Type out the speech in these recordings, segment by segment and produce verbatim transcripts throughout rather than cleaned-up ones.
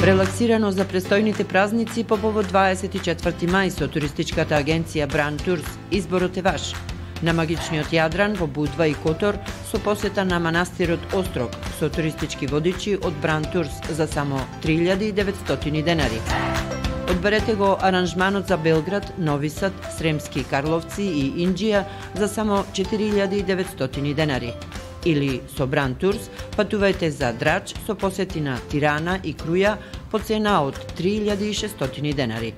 Релаксирано за престојните празници по повод дваесет и четврти мај со туристичката агенција Бран Турс. Изборот е ваш. На магичниот Јадран во Будва и Котор со посета на манастирот Острог со туристички водичи од Бран Турс за само три илјади и деветстотини денари. Одберете го аранжманот за Белград, Нови Сад, Сремски Карловци и Инџија за само четири илјади и деветстотини денари. Или со Бран Турс патувајте за Драч со посети на Тирана и Круја по цена од три илјади и шестстотини денари.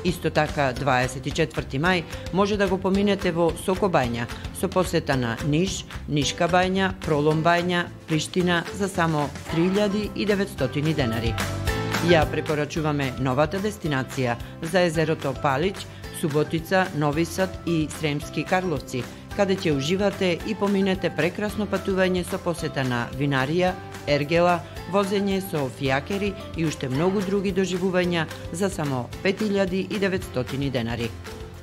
Исто така, дваесет и четврти мај може да го поминете во Сокобања со посета на Ниш, Нишка бања, Пролом бања, Приштина за само три илјади и деветстотини денари. Ја препорачуваме новата дестинација за езерото Палич, Суботица, Нови Сад и Сремски Карловци, каде ќе уживате и поминете прекрасно патување со посета на винарија, ергела, возење со фијакери и уште многу други доживувања за само пет илјади и деветстотини денари.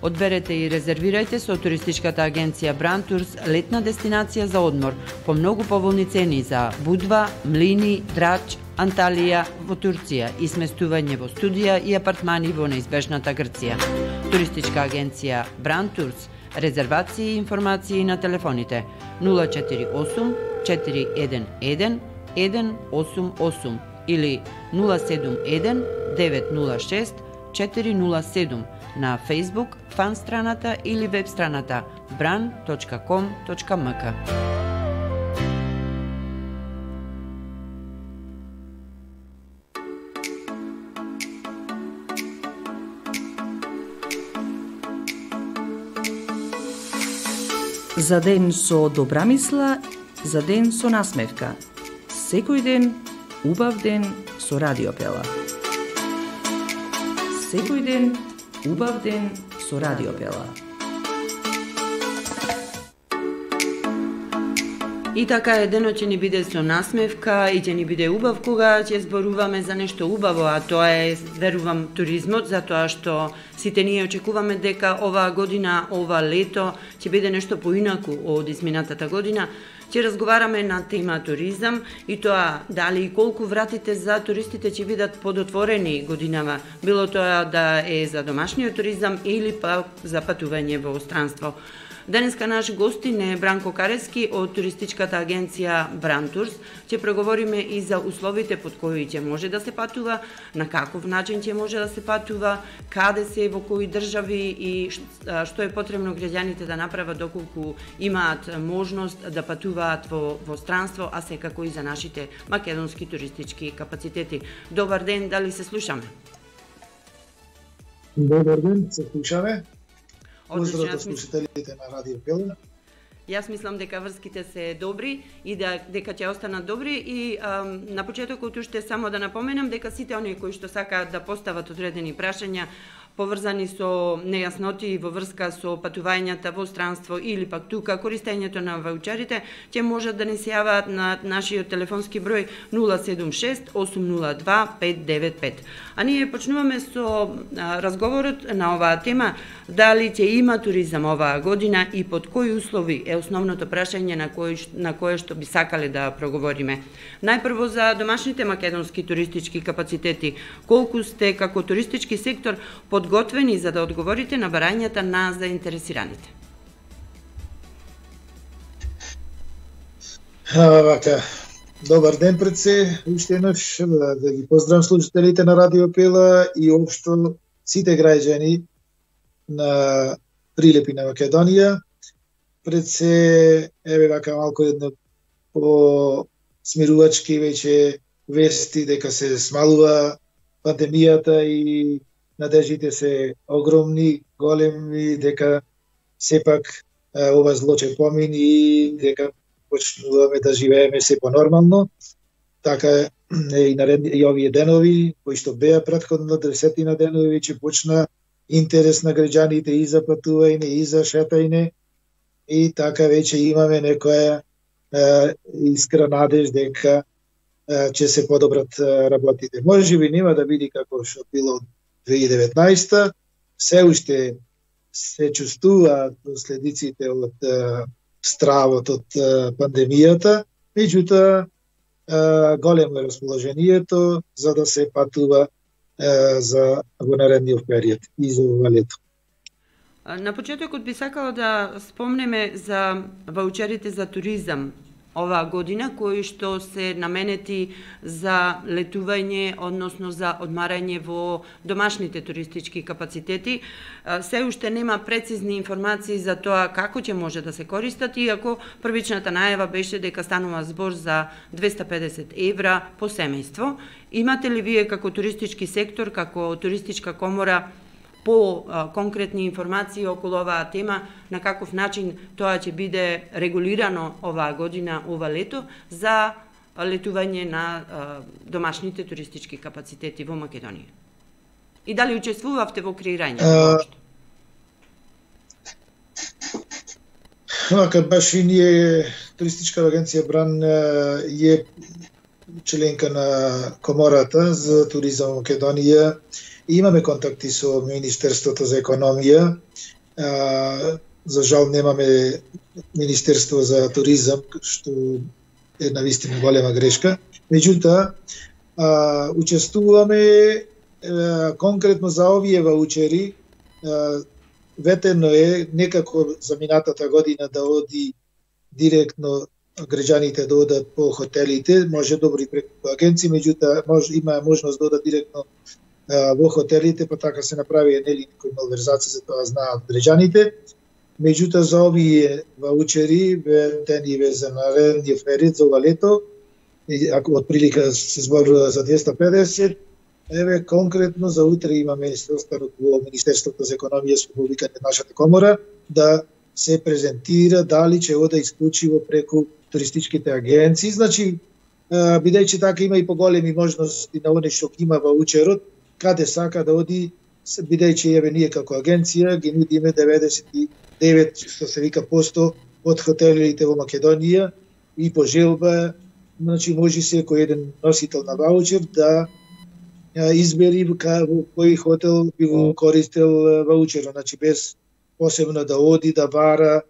Одберете и резервирајте со туристичката агенција Бран Турс летна дестинација за одмор по многу поволни цени за Будва, Млини, Драч, Анталија во Турција и сместување во студија и апартмани во неизбежната Грција. Туристичка агенција Бран Турс. Резервации и информации на телефоните нула четири осум четири еден еден еден осум осум или нула седум еден девет нула шест четири нула седум на Facebook, фан страната или веб страната бран точка ком точка ем ка. За ден со добра мисла, за ден со насмевка. Секој ден, убав ден со Радиопела. Секој ден, убав ден со Радиопела. И така е, денот ќе ни биде со насмевка и ќе ни биде убав кога ќе зборуваме за нешто убаво, а тоа е, верувам, туризмот, затоа што сите ние очекуваме дека оваа година, ова лето ќе биде нешто поинаку од изминатата година. Ќе разговараме на тема туризам и тоа дали и колку вратите за туристите ќе бидат подотворени годинава, било тоа да е за домашниот туризам или па за патување во странство. Денеска наш гостин е Бранко Карески од туристичката агенција Бран Турс. Ќе преговориме и за условите под кои ќе може да се патува, на каков начин ќе може да се патува, каде се, во кои држави и што е потребно граѓаните да направат доколку имаат можност да патуваат во, во странство, а секако и за нашите македонски туристички капацитети. Добар ден, дали се слушаме? Добар ден, се слушаме. Одлично, Поздрав до слушателите на Радио Пела. Јас мислам дека врските се добри и да, дека ќе останат добри и ам, на почетокот уште само да напоменам дека сите оние кои што сакаат да постават одредени прашања поврзани со нејасноти во врска со патувањата во странство или пак тука користењето на ваучерите, ќе можат да ни се јаваат на нашиот телефонски број нула седум шест осум нула два пет девет пет. А ние почнуваме со а, разговорот на оваа тема, дали ќе има туризам оваа година и под кои услови е основното прашање на кое, на кое што би сакале да проговориме. Најпрво за домашните македонски туристички капацитети, колку сте како туристички сектор подготвени за да одговорите на барањата на заинтересираните? Вака, добар ден пред се, уште еднаш да, да ги поздравам слушателите на Радио Пела и општо сите граѓани на Прилепи на Македонија. Пред се, еве вака малку едно по смирувачки веќе вести дека се смалува пандемијата и надеждите се огромни, големи, дека сепак ова зло ќе помини и дека почнуваме да живееме се понормално. Така е и, наред, и овие денови, кои што беа претходно десетина денови, ќе почна интерес на граѓаните и за патување, и за шетање. И така веќе имаме некоја е, искра надеж дека е, ќе се подобрат е, работите. Може би нема да биде како што било две илјади и деветнаесета, се уште се чувствуваат последиците од е, стравот од е, пандемијата, меѓутоа големо е расположението за да се патува за во наредниот период и за ова лето. На почетокот би сакала да спомнеме за ваучерите за туризам оваа година, кои што се наменети за летување, односно за одмарање во домашните туристички капацитети. Се уште нема прецизни информации за тоа како ќе може да се користат, иако првичната најава беше дека станува збор за двеста и педесет евра по семејство. Имате ли вие како туристички сектор, како туристичка комора, по конкретни информации околу оваа тема, на каков начин тоа ќе биде регулирано оваа година, ова лето, за летување на домашните туристички капацитети во Македонија? И дали учествувавте во креирањето воопшто? Вака, баш и ние, туристичка агенција Бран е членка на Комората за туризам во Македонија. Имаме контакти со Министерството за економија. За жал немаме Министерство за туризам, што е навистина голема грешка. Меѓутоа, учествуваме конкретно за овие ваучери. Ветено е некако за минатата година да оди директно граѓаните да одат по хотелите, може добри преку агенции, меѓутоа може има можност да одат директно во хотелите, па така се направи нели некои малверзации, за тоа знаат граѓаните. Меѓутоа за овие ваучери ветени за наредниот период за ова лето, ако отприлика се зборува за двеста и педесет, еве конкретно за утре имаме состанок во Министерството за економија со повикање нашата комора да се презентира дали ќе ода исклучиво преку туристичките агенции. Значи, бидејќи така има и поголеми можности на оне што има ваучерот, каде сака да оди, бидејќи еве ние како агенција ги нудиме деветдесет и девет што се вика посто од хотелите во Македонија и по желба, значи може секој еден носител на ваучер да избери во кој хотел би го користел ваучерот, значи без посебно да оди да бара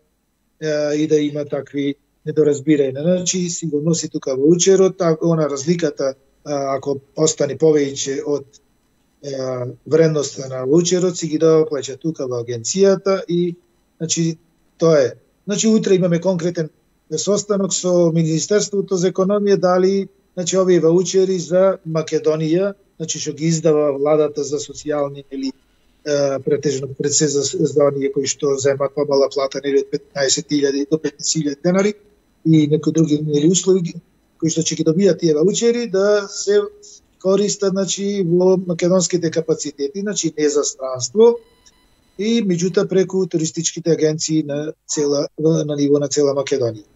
и да има такви недоразбирања. Значи си го носи тука ваучерот, она разликата ако остане повеќе од вредноста на ваучерот си ги дава плаќа тука во агенцијата и значи тоа е. Значи утре имаме конкретен состанок со Министерството за економија дали значи овие ваучери за Македонија, значи што ги издава владата за социјални или претежно пред се за оние кои што земат помала плата нели од петнаесет илјади до петнаесет илјади денари и некои други нели услови кои што ќе ги добијат тие ваучери да се користат значи во македонските капацитети, значи не за странство и меѓутоа преку туристичките агенции на цела на ниво на цела Македонија.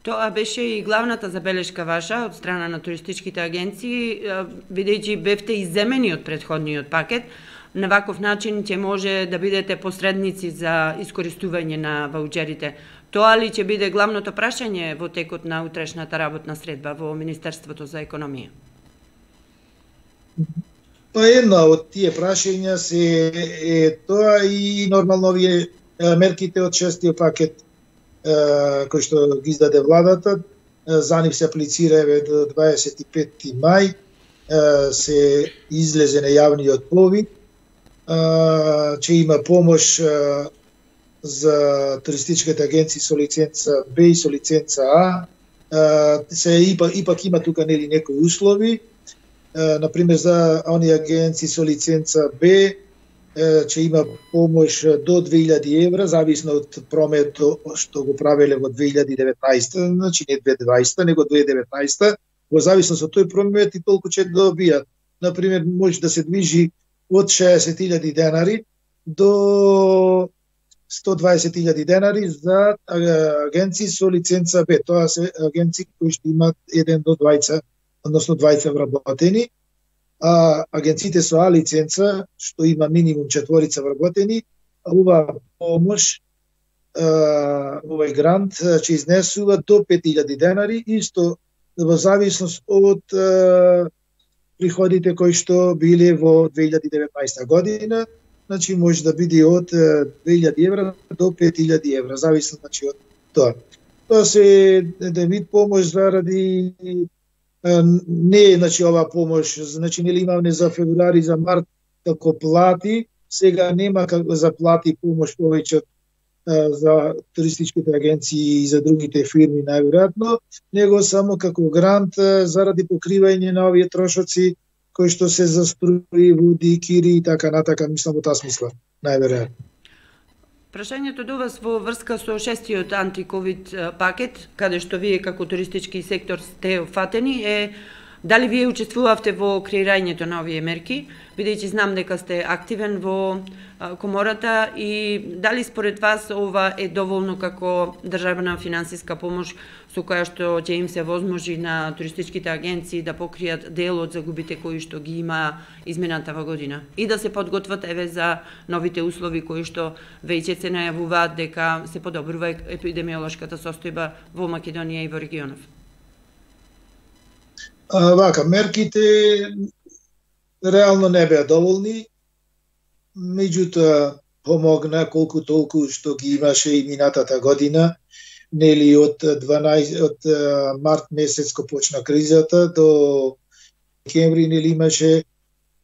Тоа беше и главната забелешка ваша од страна на туристичките агенции, бидејќи бевте изземени од претходниот пакет. На ваков начин ќе може да бидете посредници за искористување на ваучерите. Тоа ли ќе биде главното прашање во текот на утрешната работна средба во Министерството за економија? Тоа е една од тие прашања се е тоа и нормално овие мерките од шестиот пакет кој што ги издаде владата, за нив се аплицира еве до дваесет и петти мај, се излезе на јавниот повик, че има помош за туристичките агенции со лиценца Б и со лиценца А. Се ипак, ипак има тука нели некои услови, например за оние агенции со лиценца Б, че има помош до две илјади евра, зависно од прометот што го правеле во две илјади и деветнаесета, значи не две илјади и дваесета, него две илјади и деветнаесета, во зависност од тој промет и толку ќе добијат. Например, може да се движи од шеесет илјади денари до сто и дваесет илјади денари за агенции со лиценца Б. Тоа се агенции кои што имаат еден до двајца, односно двајца вработени. А агенциите со А лиценца, што има минимум четворица вработени, ова помош, овој грант ќе изнесува до пет илјади денари, исто во зависност од приходите кои што биле во две илјади и деветнаесета година, значи може да биде од две илјади евра до пет илјади евра, зависно значи од тоа. Тоа се еден вид помош заради не е, значи, ова помош, значи, нели имаме за февруари, за март, како плати, сега нема како за плати помош повеќе за туристичките агенции и за другите фирми, најверојатно, него само како грант заради покривање на овие трошоци кои што се за струи, води, кири и така натака, мислам во таа смисла, најверојатно. Прашањето до вас во врска со шестиот антиковид пакет, каде што вие како туристички сектор сте фатени, е дали вие учествувавте во креирањето на овие мерки, бидејќи знам дека сте активен во комората, и дали според вас ова е доволно како државна финансиска помош со која што ќе им се возможи на туристичките агенции да покријат дел од загубите кои што ги има изминатава година и да се подготват еве за новите услови кои што веќе се најавуваат дека се подобрува епидемиолошката состојба во Македонија и во регионов? А, вака, мерките реално не беа доволни, меѓутоа помогна колку толку што ги имаше и минатата година, нели од дванаесет од март месец кога почна кризата до декември, нели имаше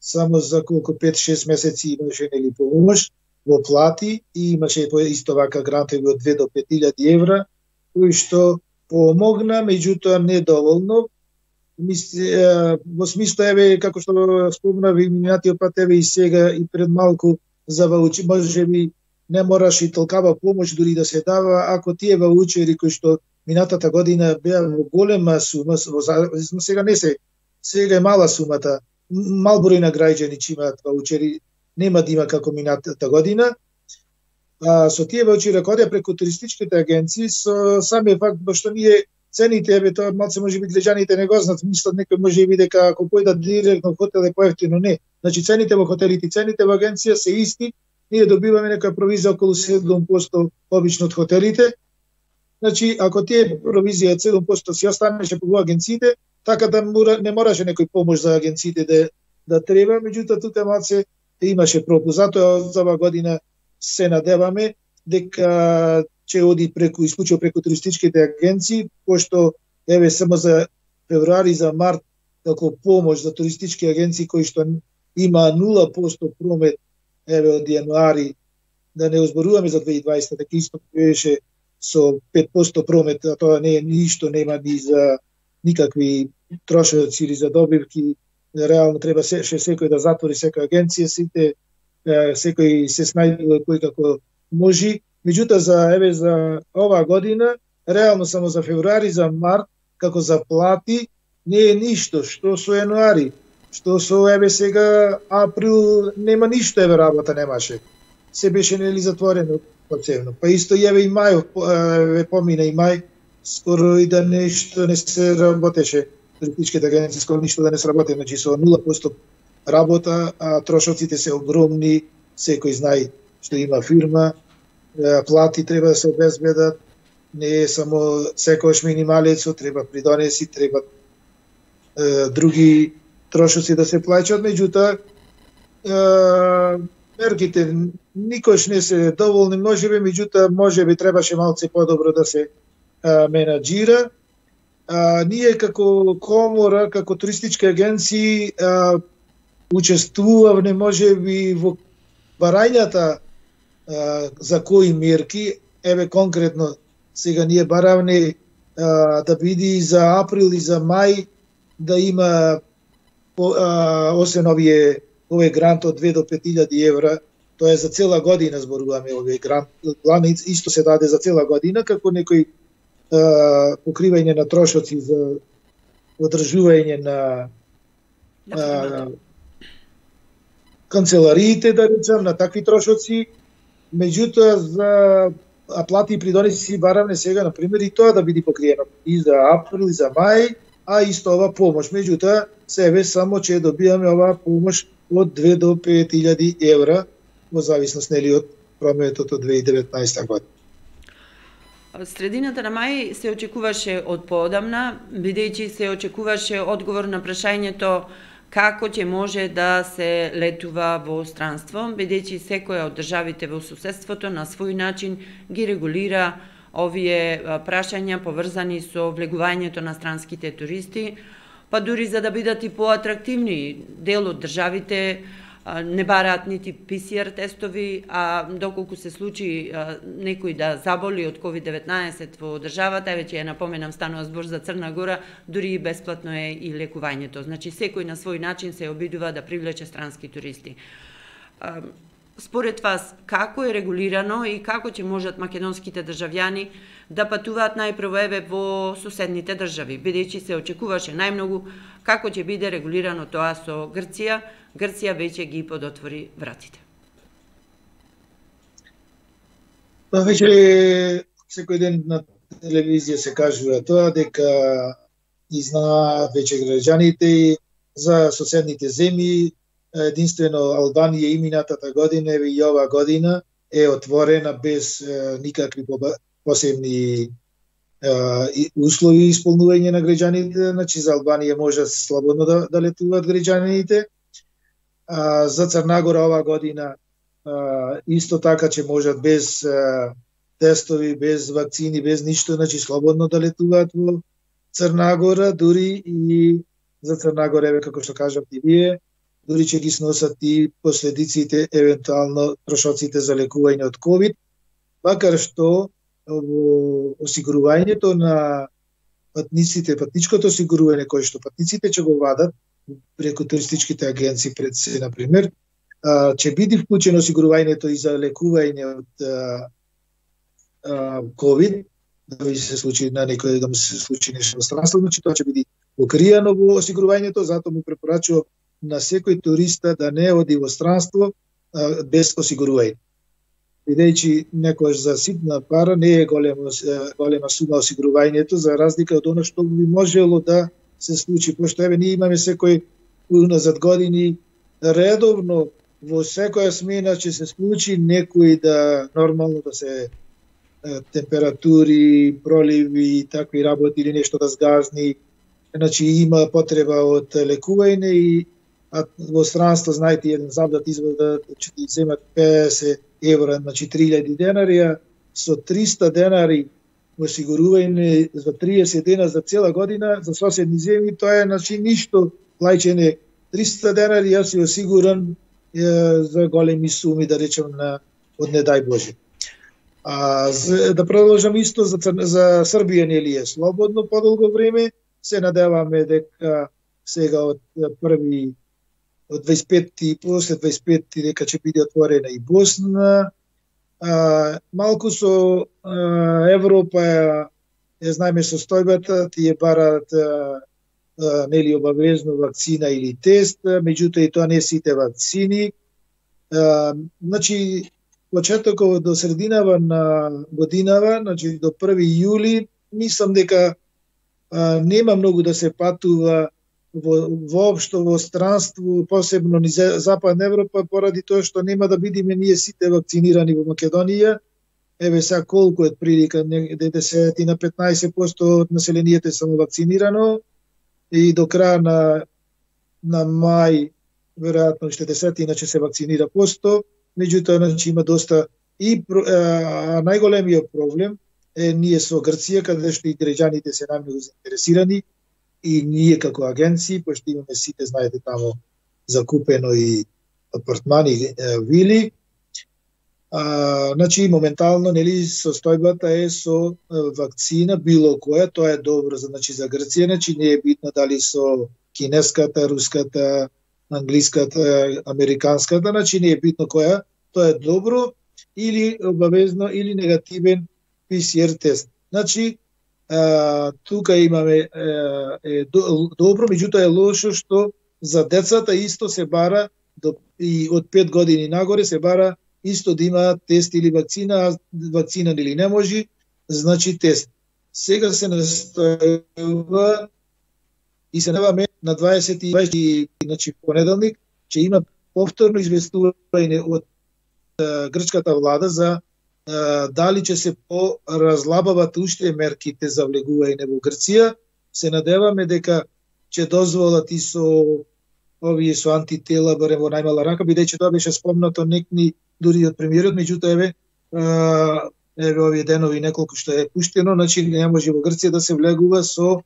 само за колку пет-шест месеци имаше, нели, помош во плати и имаше исто вака грантови од две до пет илјади евра, кои што помогна, меѓутоа недоволно. Во смисла, еве, како што спомнав и минатиот пат, еве и сега и пред малку за ваучери, може би не мораш и толкава помош дури да се дава, ако тие ваучери кои што минатата година беа во голема сума, сега не се, сега е мала сумата, мал број на граѓани че имаат ваучери, нема да има како минатата година. А, со тие ваучери, ако оде преку туристичките агенции, со самиот факт што ние цените, еве, тоа малце може би глеѓаните не го знаат, мислат некој може би дека ако појдат директно во хотел е поевтино, не. Значи цените во хотелите, цените во агенција се исти, ние добиваме некоја провизија околу седум проценти обично од хотелите. Значи, ако тие провизија седум проценти си останеше по агенциите, така да не мораше некој помош за агенциите да да треба, меѓутоа тука малце имаше пропуст. Затоа за оваа година се надеваме дека ќе оди преку исклучиво преку туристичките агенции, пошто еве само за февруари, за март како помош за туристички агенции кои што има нула проценти промет, еве од јануари, да не озборуваме за две илјади и дваесета, дека исто беше со пет проценти промет, а тоа не е ништо, нема ни за никакви трошоци или за добивки. Реално треба се, секој да затвори секоја агенција, сите секој се снајдува кој како може. Меѓутоа за еве за оваа година, реално само за февруари, за март, како за плати, не е ништо, што со јануари, што со еве сега април нема ништо, еве работа немаше. Се беше, нели, затворено поцевно. Па исто и еве и мај, еве помина и мај, скоро и да нешто не се работеше. Туристичките агенции скоро ништо да не сработи, значи со нула проценти работа, а трошоците се огромни, секој знае што има фирма, плати треба да се обезбедат, не е само секојаш минималецо, треба придонеси, треба е, други трошоци да се плаќаат, меѓутоа мерките никош не се доволни, можеби, меѓутоа можеби требаше малце подобро да се е, менаџира. А, ние како комора, како туристички агенции е, учествувавме можеби во барањата за кои мерки, еве конкретно сега ние баравне а, да биде за април и за мај да има а, освен овие овој грант од две до пет илјади евра, тоа е за цела година зборуваме овој грант, план исто се даде за цела година како некој а, покривање на трошоци за одржување на а, канцелариите, да речем, на такви трошоци. Меѓутоа за плати и придонеси си баравне сега, например, и тоа да биде покриено и за април и за мај, а исто ова помош. Меѓутоа себе само че добиваме оваа помош од две до пет илјади евра во зависност, нели, од прометот од две илјади и деветнаесета година. Средината на мај се очекуваше од поодамна, бидејќи се очекуваше одговор на прашањето како ќе може да се летува во странство, бидејќи секоја од државите во суседството на свој начин ги регулира овие прашања поврзани со влегувањето на странските туристи, па дури за да бидат и поатрактивни. Дел од државите не бараат нити пи си ар тестови, а доколку се случи а, некој да заболи од ковид деветнаесет во државата, веќе ја напоменам, станува збор за Црна Гора, дури и бесплатно е и лекувањето. Значи, секој на свој начин се обидува да привлече странски туристи. А, според вас, како е регулирано и како ќе можат македонските државјани да патуваат најпрво еве во соседните држави, бидејќи се очекуваше најмногу како ќе биде регулирано тоа со Грција? Грција веќе ги подотвори вратите. Па веќе секој ден на телевизија се кажува тоа дека и знаат веќе граѓаните за соседните земји. Единствено Албанија и минатата година и ова година е отворена без е, никакви посебни е, услови исполнување на граѓаните. Значи за Албанија може слободно да, да летуваат граѓаните. А, за Црна Гора ова година а, исто така че можат без а, тестови, без вакцини, без ништо, значи слободно да летуваат во Црна Гора, дури и за Црна Гора, еве како што кажавте и вие, дури че ги сносат и последиците, евентуално трошоците за лекување од ковид, макар што во осигурувањето на патниците, патничкото осигурување кое што патниците ќе го вадат преку туристичките агенции пред се, например, ќе биде вклучено осигурувањето и за лекување од ковид, да ви се случи на некој да му се случи нешто во странство, значи тоа ќе биде покриено во осигурувањето, затоа му препорачувам на секој туриста да не оди во странство а, без осигурување. Бидејќи некојаш за ситна пара не е голема, голема сума осигурувањето, за разлика од оно што би можело да се случи, пошто еве ние имаме секој уназад години редовно во секоја смена ќе се случи некој да нормално да се температури, проливи и такви работи или нешто да сгазни. Значи има потреба од лекување и а во странство, знаете, еден завдат извода ќе ти земат педесет евра, значи три илјади денари, со триста денари осигурување за триесет дена за цела година за соседни земји, тоа е значи ништо плаќање. триста денари јас си осигуран е, за големи суми, да речем, на од не дај Боже. А за, да продолжам исто за, за Србија, нели е слободно подолго време, се надеваме дека сега од први од дваесет и пети, после дваесет и пети дека ќе биде отворена и Босна. А, малку со а, Европа е знаеме состојбата, тие бараат а, а, нели обавезно вакцина или тест, меѓутоа и тоа не сите вакцини. А, значи почетокот до срединава на годинава, значи до први јули, мислам дека а, нема многу да се патува во воопшто во странство, посебно низ Западна Европа, поради тоа што нема да бидеме ние сите вакцинирани во Македонија. Еве сега колку е прилика, десет на петнаесет проценти од населението е само вакцинирано и до крај на на мај веројатно уште десетина ќе се вакцинира посто. Меѓутоа, значи има доста и а, најголемиот проблем е ние со Грција, каде што и граѓаните се најмногу заинтересирани и ние како агенции, пошто имаме сите, знаете, тамо закупено и апартмани, вили. А, значи, моментално, нели, состојбата е со вакцина, било која, тоа е добро за, значи, за Грција, значи не е битно дали со кинеската, руската, англиската, американската, значи не е битно која, тоа е добро, или обавезно, или негативен пи си ар тест. Значи, а, тука имаме е, е добро, меѓутоа е лошо што за децата исто се бара до, и од пет години нагоре се бара исто да има тест или вакцина, а вакцина или не може, значи тест. Сега се настојува и се надеваме на дваесет и дваесет, значи понеделник, ќе има повторно известување од а, грчката влада за а, дали ќе се поразлабават уште мерките за влегување во Грција. Се надеваме дека ќе дозволат и со овие со антитела барем во најмала рака, бидејќи тоа беше спомнато некни дури од премиерот, меѓутоа еве а, еве овие денови неколку што е пуштено, значи не може во Грција да се влегува со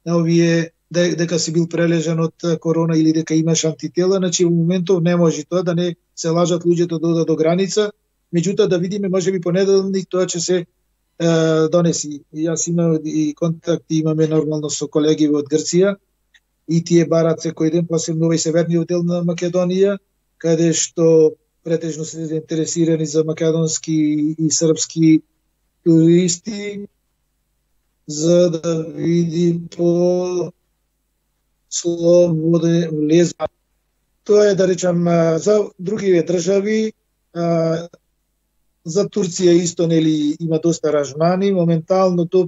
овие дека си бил прележан од корона или дека имаш антитела, значи во моментов не може тоа да не се лажат луѓето да одат до граница, меѓутоа да видиме можеби понеделник тоа ќе се е, донеси. Јас имам и контакти имаме нормално со колеги од Грција и тие барат секој ден, посебно овој северниот дел на Македонија, каде што претежно се заинтересирани за македонски и српски туристи, за да види по слободен влез. Тоа е, да речам, за други држави, за Турција исто, нели, има доста аранжмани. Моментално до,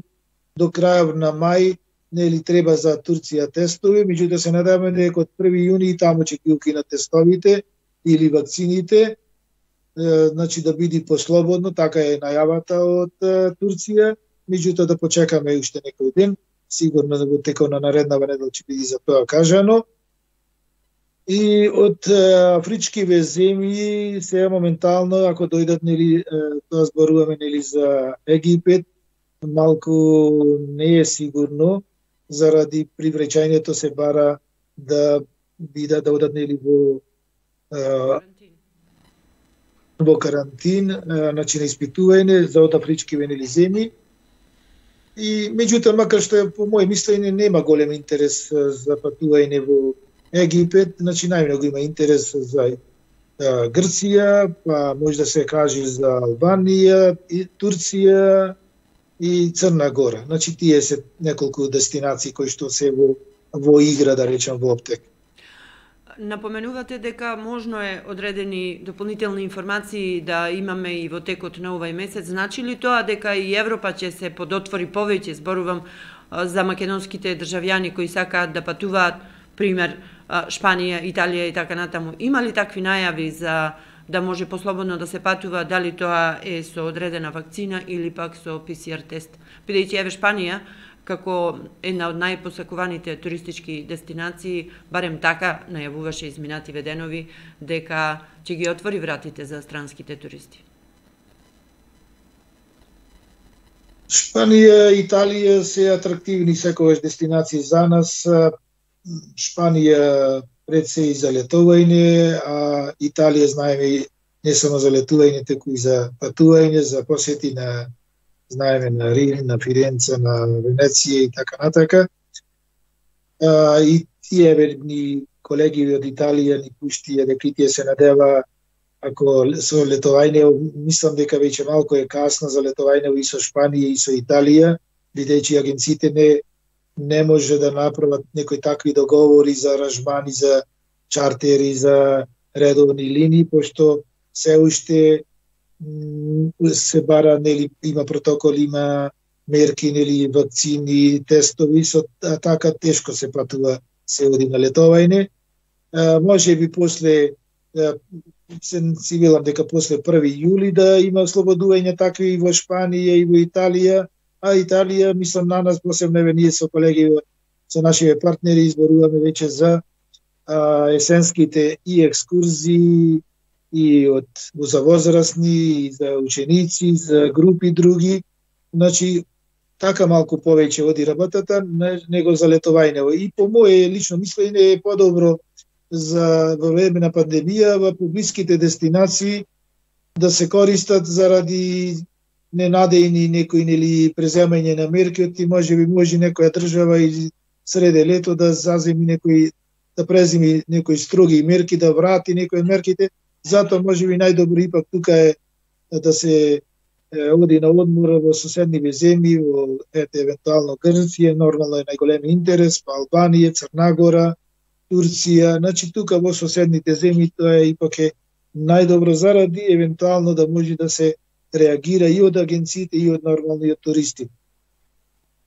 до крајот на мај, нели, треба за Турција тестови, меѓутоа се надеваме дека од први јуни таму ќе ги укинат тестовите или вакцините, значи да биде послободно, така е најавата од Турција, меѓутоа да почекаме уште некој ден, сигурно да во текот на нареднава недела ќе биде за тоа кажано. И од афричкиве земји сега моментално, ако дојдат, нели, тоа зборуваме, нели, за Египет, малку не е сигурно, заради привречањето се бара да бидат, да одат, нели, во во карантин, значи на испитување за од афричкиве, нели, земји. И меѓутоа, макар што по моје мислење нема голем интерес за патување во Египет, значи најмногу има интерес за а, Грција, па може да се каже за Албанија, и Турција и Црна Гора. Значи тие се неколку дестинации кои што се во, во игра, да речам, во оптек. Напоменувате дека можно е одредени дополнителни информации да имаме и во текот на овај месец. Значи ли тоа дека и Европа ќе се подотвори повеќе, зборувам за македонските државјани кои сакаат да патуваат, пример Шпанија, Италија и така натаму? Има ли такви најави за да може послободно да се патува, дали тоа е со одредена вакцина или пак со пи си ар тест? Бидејќи еве Шпанија, како една од најпосакуваните туристички дестинации, барем така најавуваше изминативе денови, дека ќе ги отвори вратите за странските туристи. Шпанија, Италија се атрактивни секогаш дестинации за нас. Шпанија пред се и за летување, а Италија знаеме не само за летување, туку и за патување, за посети на знаеме на Рим, на Фиренца, на Венеција и така натака. А, и тие верни колеги од Италија ни пуштија дека тие се надева, ако со летување, мислам дека веќе малку е касно за летување и со Шпанија и со Италија, бидејќи агенциите не не може да направат некои такви договори за аранжмани, за чартери, за редовни линии, пошто се уште се бара, нели, има протоколи, има мерки, нели, вакцини, тестови, со така тешко се патува, се оди на летување. Може би после, се сигурам дека после први јули да има ослободување такви и во Шпанија и во Италија, а Италија, мислам, на нас посебно еве ние со колеги, со нашите партнери изборуваме веќе за а, есенските и екскурзии и од за возрастни, и за ученици, за групи други. Значи, така малку повеќе оди работата, него за летување. И по моје лично мислење е подобро за во време на пандемија во публиските дестинации да се користат заради ненадејни некои, нели, преземање на мерки, и може би може некоја држава и среде лето да заземи некои, да преземи некои строги мерки, да врати некои мерките. Затоа може би најдобро ипак тука е да се е, оди на одмор во соседниве земји, во ете, евентуално Грција, нормално е најголем интерес, па Албанија, Црна Гора, Турција. Значи тука во соседните земји тоа е ипак е најдобро заради евентуално да може да се реагира и од агенциите и од нормалниот туристи.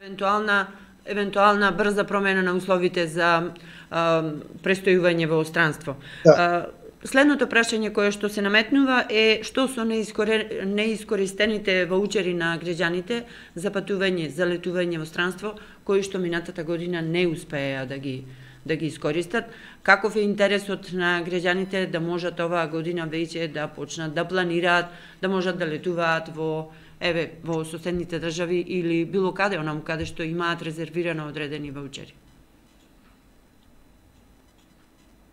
Евентуална евентуална брза промена на условите за а, престојување во странство. Да. А, следното прашање кое што се наметнува е што со неискоре... неискористените ваучери на граѓаните за патување, за летување во странство, кои што минатата година не успеа да ги да ги искористат. Каков е интересот на граѓаните да можат оваа година веќе да почнат да планираат, да можат да летуваат во еве во соседните држави или било каде онаму каде што имаат резервирано одредени ваучери?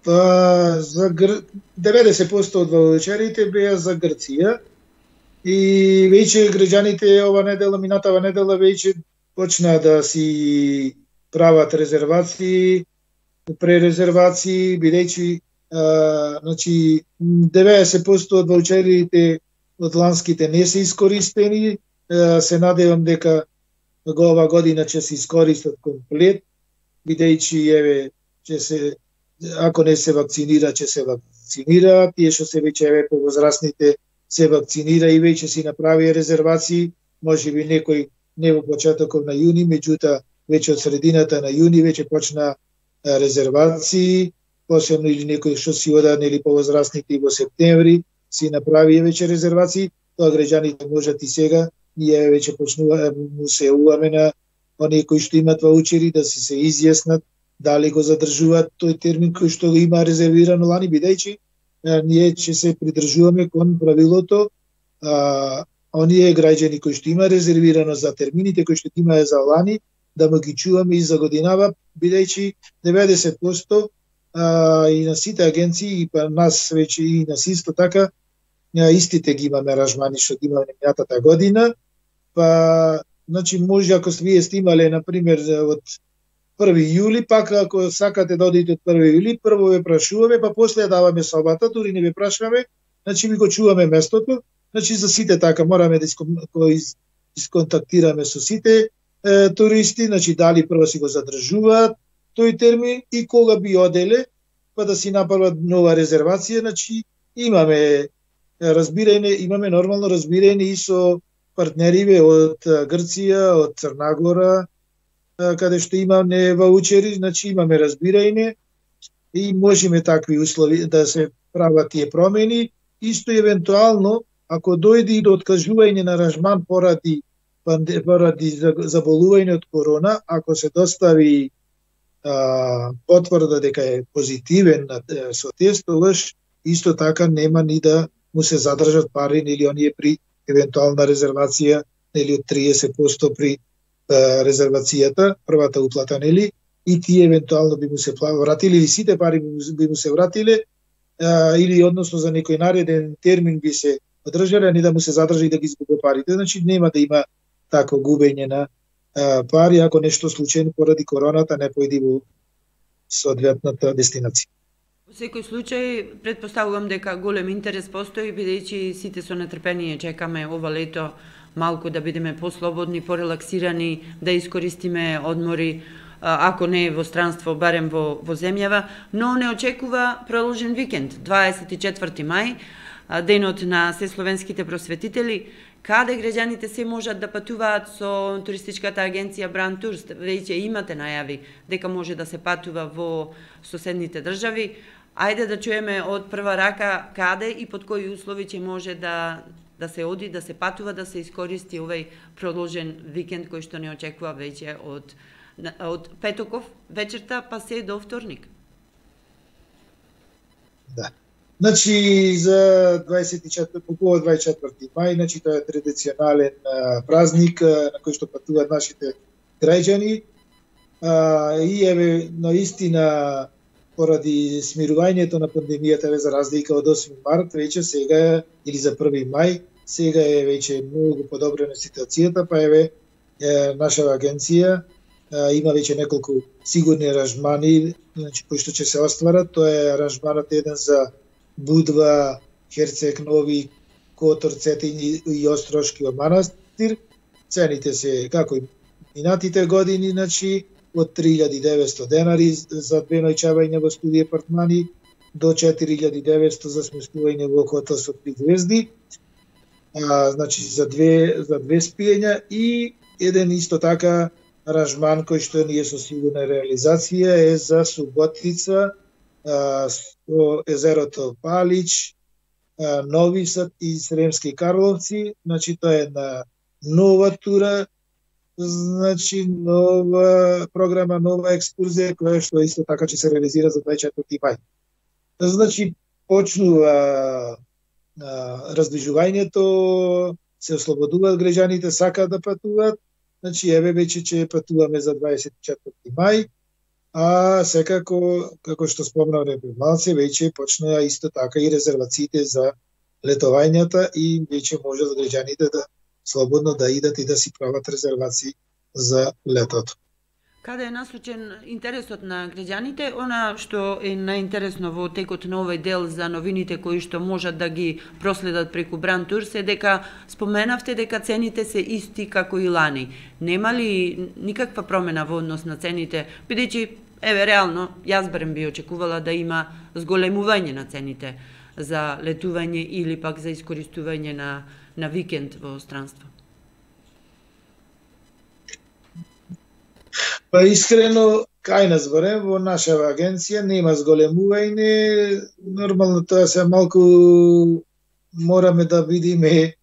Па за Гр... деветдесет проценти од ваучерите беа за Грција и веќе граѓаните ова недела, минатава недела веќе почнаа да си прават резервации, пререзервации, бидејќи значи деветдесет проценти од ваучерите од ланските не се искористени, а, се надевам дека го ова година ќе се искористат комплет, бидејќи еве ќе се, ако не се вакцинира, ќе се вакцинира, тие што се веќе еве повозрастните се вакцинира и веќе си направи резервации, можеби некој не во почетокот на јуни, меѓутоа веќе од средината на јуни веќе почна резервации, посебно или некој што си ода нели повозрастните и во септември си направи веќе резервации, тоа граѓаните можат и сега, ние веќе почнува му се јавуваме на оние кои што имат ваучери да си се изјаснат дали го задржуваат тој термин кој што го има резервирано лани, бидејќи ние ќе се придржуваме кон правилото, а, оние граѓани кои што има резервирано за термините кои што имаат за лани, да му ги чуваме и за годинава, бидејќи деветдесет проценти а, и на сите агенции и па нас веќе и на исто така истите ги имаме аранжмани што ги имаме минатата година, па значи може ако вие сте имале на пример од први јули, пак ако сакате да одите од први јули, прво ве прашуваме, па после даваме собата, дури не ве прашуваме, значи ми го чуваме местото, значи за сите така мораме да исконтактираме со сите е, туристи, значи дали прво си го задржуваат тој термин и кога би оделе, па да си направат нова резервација, значи имаме разбирање, имаме нормално разбирање и со партнериве од Грција, од Црна Гора, каде што имаме ваучери, значи имаме разбирање и можеме такви услови да се прават тие промени. Исто евентуално, ако дојде и до откажување на аранжман поради, поради заболување од корона, ако се достави а, потврда дека е позитивен со тест, тогаш исто така нема ни да му се задржат пари или оние при евентуална резервација или од триесет проценти при резервацијата, првата уплата, нели, и тие евентуално би му се вратили, или сите пари би му се вратиле, а, или односно за некој нареден термин би се одржале, а не да му се задржи и да ги изгуби парите. Значи нема да има тако губење на а, пари, ако нешто случајно поради короната не појди во соодветната дестинација. Во секој случај, предпоставувам дека голем интерес постои, бидејќи сите со нетрпение чекаме ова лето малку да бидеме послободни, порелаксирани, да искористиме одмори, ако не во странство, барем во, во земјава, но не очекува продолжен викенд, дваесет и четврти мај, денот на сесловенските просветители, каде граѓаните се можат да патуваат со туристичката агенција Brand Tours. Веќе имате најави дека може да се патува во соседните држави. Ајде да чуеме од прва рака каде и под кои услови ќе може да да се оди, да се патува, да се искористи овој продолжен викенд кој што не очекува веќе од од петоков вечерта па се до вторник. Да. Значи за дваесет и четврти по дваесет и четврти мај, значи тоа е традиционален а, празник а, на кој што патуваат нашите граѓани. А, и еве наистина поради смирувањето на пандемијата, за разлика од осми март, веќе сега или за први мај, сега е веќе многу подобрена ситуацијата, па еве е, наша агенција е, има веќе неколку сигурни аранжмани, значи кои што ќе се остварат. Тоа е аранжманот еден за Будва, Херцег Нови, Котор, Цетин и Острошки манастир. Цените се како и минатите години, значи од три илјади и деветсто денари за две ноќавања во студија апартмани до четири илјади и деветсто за сместување во хотел со три звезди. А, значи за две за две спиења и еден исто така аранжман кој што ние со сигурна реализација е за Суботица, а, со езерото Палич, а, Нови Сад и Сремски Карловци. Значи тоа е една нова тура, значи нова програма, нова екскурзија која што исто така ќе се реализира за дваесет и четврти мај. Значи почнува раздвижувањето, се ослободуваат граѓаните, сакаат да патуваат. Значи еве веќе ќе патуваме за дваесет и четврти мај. а секако, како што спомнавме пред малце, веќе почнаа исто така и резервациите за летувањата и веќе може за граѓаните да слободно да идат и да си прават резервации за летото. Каде е насочен интересот на граѓаните? Она што е најинтересно во текот на овој дел за новините кои што можат да ги проследат преку Brand Tours е дека споменавте дека цените се исти како и лани. Нема ли никаква промена во однос на цените, бидејќи еве реално јас барем би очекувала да има зголемување на цените за летување или пак за искористување на на викенд во странство? Па искрено, кај нас барем во нашава агенција нема зголемување, нормално тоа се малку мораме да бидеме е,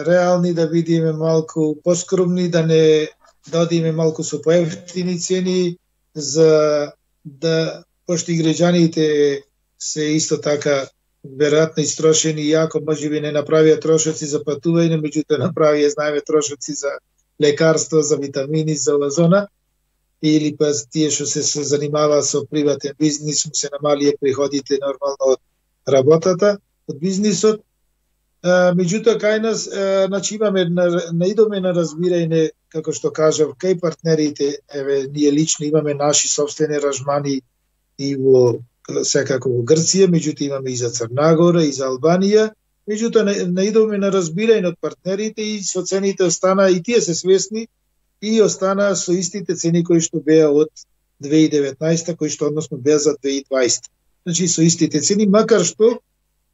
реални, да бидеме малку поскромни, да не дадиме малку со поевтини цени за да пошто и граѓаните се исто така веројатно истрошени, иако можеби не направија трошоци за патување, меѓутоа направија, знаеме, трошоци за лекарства, за витамини, за озона, или па тие што се занимаваа со приватен бизнис, му се намалија приходите нормално од работата, од бизнисот. Меѓутоа, кај нас, значи имаме, наидоме на разбирање, како што кажав, кај партнерите, еве, ние лично имаме наши собствени аранжмани и во секако во Грција, меѓутоа имаме и за Црна Гора, и за Албанија, меѓутоа наидоме на разбирање од партнерите и со цените остана, и тие се свесни, и остана со истите цени кои што беа од две илади и деветнаесета, кои што односно беа за две илади и дваесета. Значи со истите цени, макар што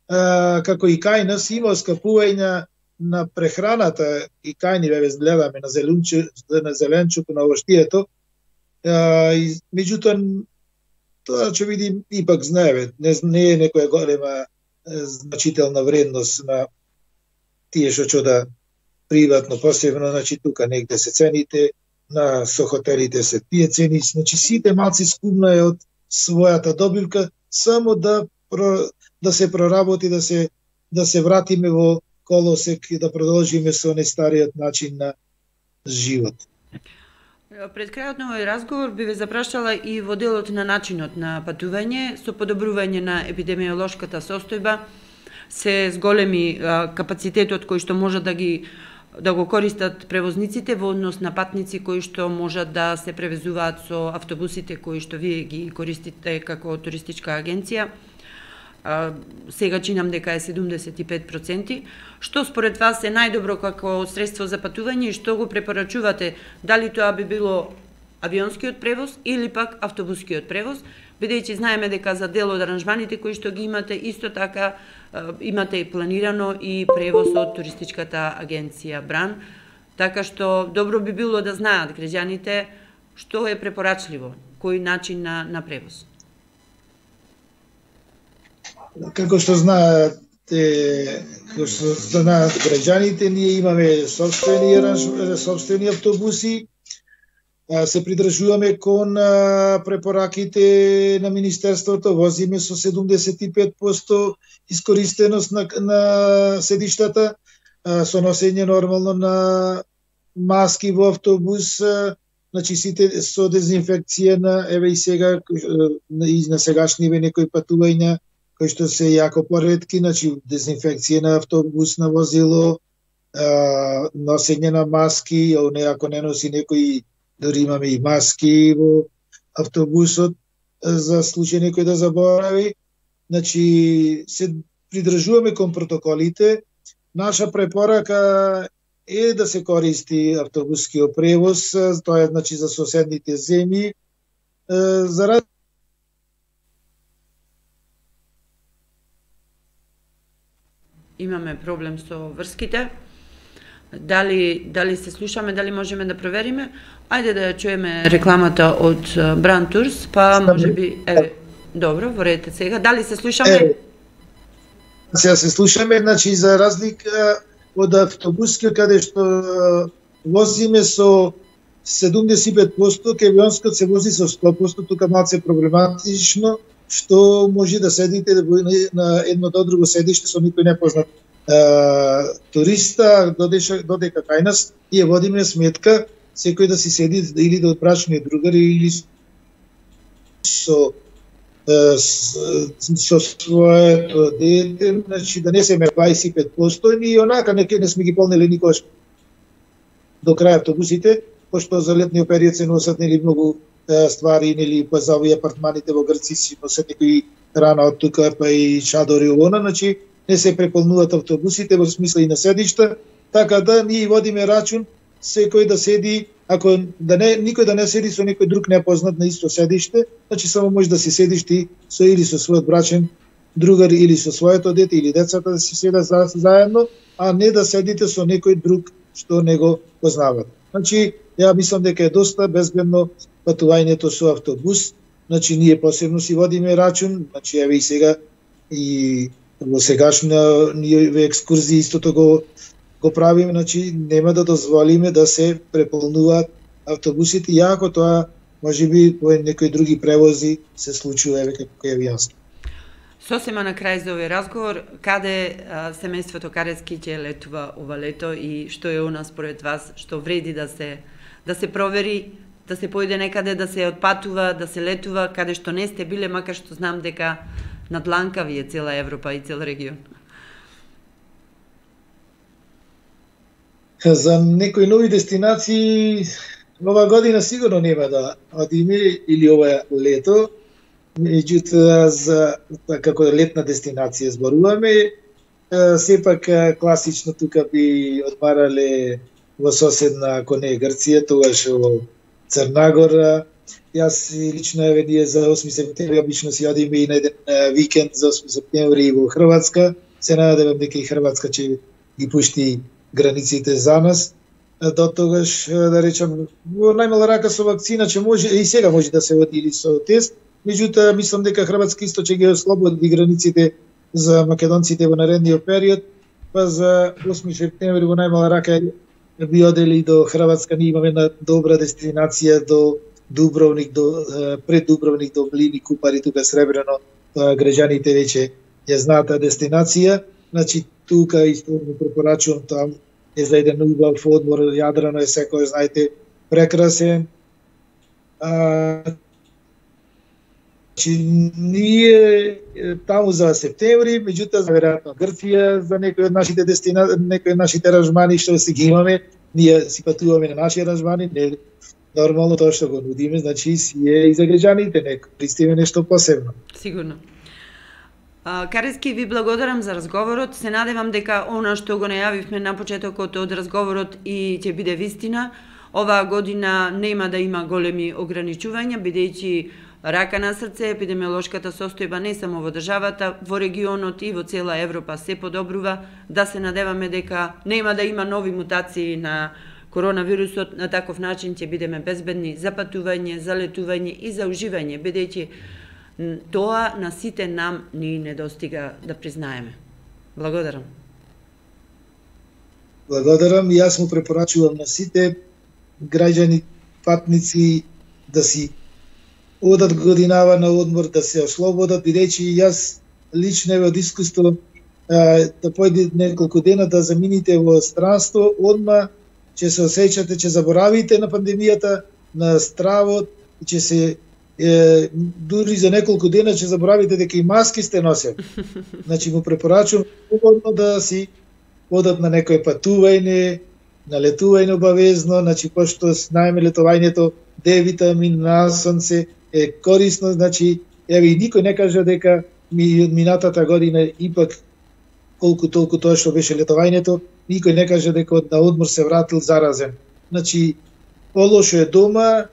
а, како и кај нас има оскапување на прехраната, и кај ни ве гледаме на зеленчу, на зеленчуко, на овоштието, меѓутоа тоа ќе видим, ипак знаеме, не, не е некоја голема значителна вредност на тие што ќе да приватно, посебно, значи тука негде се цените, на со хотелите се тие цени, значи сите малци скумна е од својата добивка, само да про, да се проработи, да се да се вратиме во колосек и да продолжиме со нестариот начин на живот. Пред крајот на овој разговор би ве запрашала и во делот на начинот на патување, со подобрување на епидемиолошката состојба, се зголеми капацитетот кој што можат да ги да го користат превозниците во однос на патници кои што можат да се превезуваат со автобусите кои што вие ги користите како туристичка агенција. А, сега чинам дека е седумдесет и пет проценти. Што според вас е најдобро како средство за патување и што го препорачувате? Дали тоа би било авионскиот превоз или пак автобускиот превоз? Бидејќи знаеме дека за дел од аранжманите кои што ги имате, исто така имате и планирано и превоз од туристичката агенција Бран, така што добро би било да знаат граѓаните што е препорачливо, кој начин на, на превоз. Како што знаат, како што знаат граѓаните, ние имаме собствени собствени автобуси, се придржуваме кон препораките на Министерството, возиме со седумдесет и пет проценти искористеност на, на седиштата, со носење нормално на маски во автобус, значи сите со дезинфекција на, еве и сега, и на сегашниве некои патувања, кои што се јако поретки, значи дезинфекција на автобус, на возило, носење на маски, ако не носи некои, дори имаме и маски во автобусот за случај некој да заборави. Значи, се придржуваме кон протоколите. Наша препорака е да се користи автобускиот превоз, тоа е значи за соседните земји. За раз... Имаме проблем со врските. Дали, дали се слушаме, дали можеме да провериме? Ајде да ја чуеме рекламата од Brand Tours, па може би, еве, добро, во ред сега. Дали се слушаме? Е, сега се слушаме, значи за разлика од автобускиот каде што возиме со седумдесет и пет проценти, кавионскиот се вози со сто проценти, тука малце проблематично, што може да седите на едно до друго седиште со никој непознат Uh, туриста, додека, додека кај нас, ние водиме сметка секој да си седи или да од брачни другари или со со своето дете, значи да не семе дваесет и пет постојни и онака не, не сме ги полнели никогаш до крај автобусите, пошто за летниот период се носат нели многу е, ствари, нели па за овие апартманите во Грци си носат некои рана од тука, па и чадори овона, значи не се преполнуваат автобусите во смисла и на седишта, така да ние водиме рачун секој да седи, ако да не никој да не седи со некој друг непознат на исто седиште, значи само може да си седиш ти со или со својот брачен другар или со своето дете или децата да си седат за, заедно, а не да седите со некој друг што не го познават. Значи, ја мислам дека е доста безбедно патувањето со автобус, значи ние посебно си водиме рачун, значи еве и сега и во сегашна ние екскурзии истото го го правиме, значи нема да дозволиме да се преполнуваат автобусите, иако тоа можеби во некои други превози се случува еве како е јасно. Сосема на крај за овој разговор, каде а, семејството Карески ќе летува ова лето и што е у нас според вас, што вреди да се да се провери, да се појде некаде, да се отпатува, да се летува, каде што не сте биле, макар што знам дека на дланка ви е цела Европа и цел регион. За некои нови дестинации ова година сигурно нема да одиме или ова лето, меѓутоа за како летна дестинација зборуваме, сепак класично тука би одмарале во соседна, ако не Грција, тогаш во Црна Гора. Јас лично еве ние за осми септември обично си одиме и на еден викенд за осми септември во Хрватска. Се надевам дека и Хрватска ќе ги пушти границите за нас. До тогаш, да речам, во најмала рака со вакцина, че може, и сега може да се оди или со тест, меѓутоа мислам дека Хрватска исто ќе ги ослободи границите за македонците во наредниот период, па за осми септември во најмала рака би одели до Хрватска. Ние имаме една добра дестинација до Дубровник, до пред Дубровник, до Блини, Купари, тука Сребрено, граѓаните веќе ја знаат таа дестинација. Значи тука исто го препорачувам, там е за еден убав одмор, Јадрано е секој знаете прекрасен. А, значи ние таму за септември, меѓутоа за веројатно Грција, за некои од нашите дестинации, некои од нашите аранжмани што си ги имаме, ние си патуваме на наши аранжмани, не нормално тоа што го нудиме, значи си е и за граѓаните, не пристиме нешто посебно. Сигурно. Карески, ви благодарам за разговорот. Се надевам дека она што го најавивме на почетокот од разговорот и ќе биде вистина. Оваа година нема да има големи ограничувања, бидејќи рака на срце, епидемиолошката состојба не само во државата, во регионот и во цела Европа се подобрува. Да се надеваме дека нема да има нови мутации на коронавирусот, на таков начин ќе бидеме безбедни за патување, за летување и за уживање, бидејќи тоа на сите нам ни недостига да признаеме. Благодарам. Благодарам и јас му препорачувам на сите граѓани, патници да си одат годинава на одмор, да се ослободат, бидејќи јас лично од искуство да појде неколку дена да замините во странство, одма ќе се осеќате, ќе заборавите на пандемијата, на стравот, и ќе се е, дури за неколку дена ќе заборавите дека и маски сте носели. Значи му препорачувам да си одат на некој патување, на летување обавезно, значи пошто знаеме летувањето Д витамин на сонце е корисно, значи еве и никој не кажа дека ми од минатата година ипак колку толку тоа што беше летувањето, никој не каже дека од на одмор се вратил заразен. Значи полошо е дома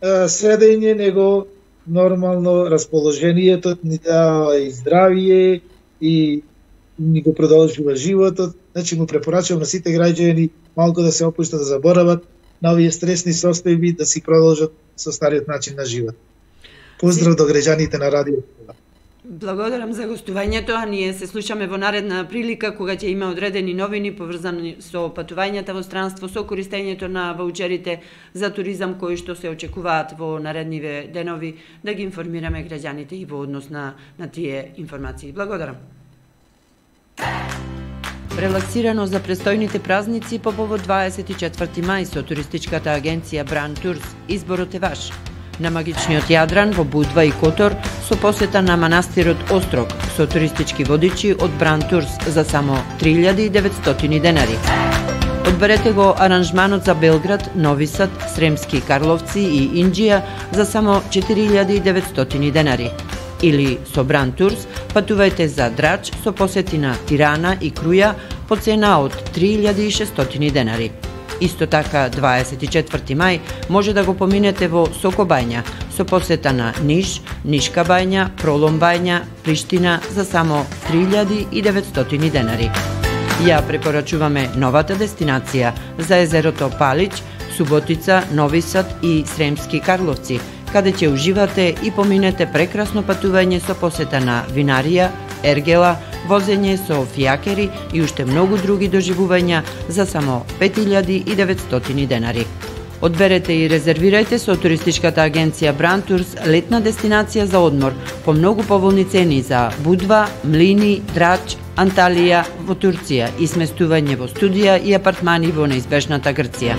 седење, него нормално расположението ни дава и здравие и ни го продолжува животот. Значи му препорачувам на сите граѓани малку да се опуштат, да заборават на овие стресни состојби, да си продолжат со стариот начин на живот. Поздрав до граѓаните на радио. Благодарам за гостувањето, а ние се слушаме во наредна прилика кога ќе има одредени новини поврзани со патувањата во странство, со користењето на ваучерите за туризам кои што се очекуваат во наредниве денови, да ги информираме граѓаните и во однос на, на тие информации. Благодарам. Релаксирано за престојните празници по повод дваесет и четврти мај со туристичката агенција Brand Tours. Изборот е ваш. На магичниот Јадран во Будва и Котор со посета на манастирот Острог со туристички водичи од Бран Турс за само три илјади и деветстотини денари. Одберете го аранжманот за Белград, Нови Сад, Сремски Карловци и Инџија за само четири илјади и деветстотини денари. Или со Бран Турс патувајте за Драч со посети на Тирана и Круја по цена од три илјади и шестстотини денари. Исто така, дваесет и четврти мај може да го поминете во Сокобања со посета на Ниш, Нишка бања, Пролом бања, Приштина за само три илјади и деветстотини денари. Ја препорачуваме новата дестинација за езерото Палич, Суботица, Нови Сад и Сремски Карловци, каде ќе уживате и поминете прекрасно патување со посета на винарија, ергела, возење со фијакери и уште многу други доживувања за само пет илјади и деветстотини денари. Одберете и резервирајте со туристичката агенција Бран Турс летна дестинација за одмор по многу поволни цени за Будва, Млини, Драч, Анталија во Турција и сместување во студија и апартмани во неизбежната Грција.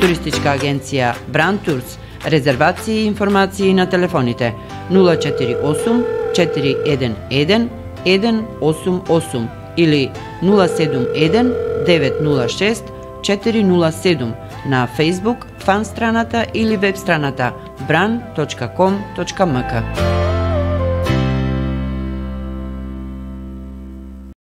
Туристичка агенција Бран Турс. Резервации и информации на телефоните нула четири осум четири еден еден еден осум осум или нула седум еден девет нула шест четири нула седум на Facebook, фан страната или веб страната бран точка ком точка ем ка.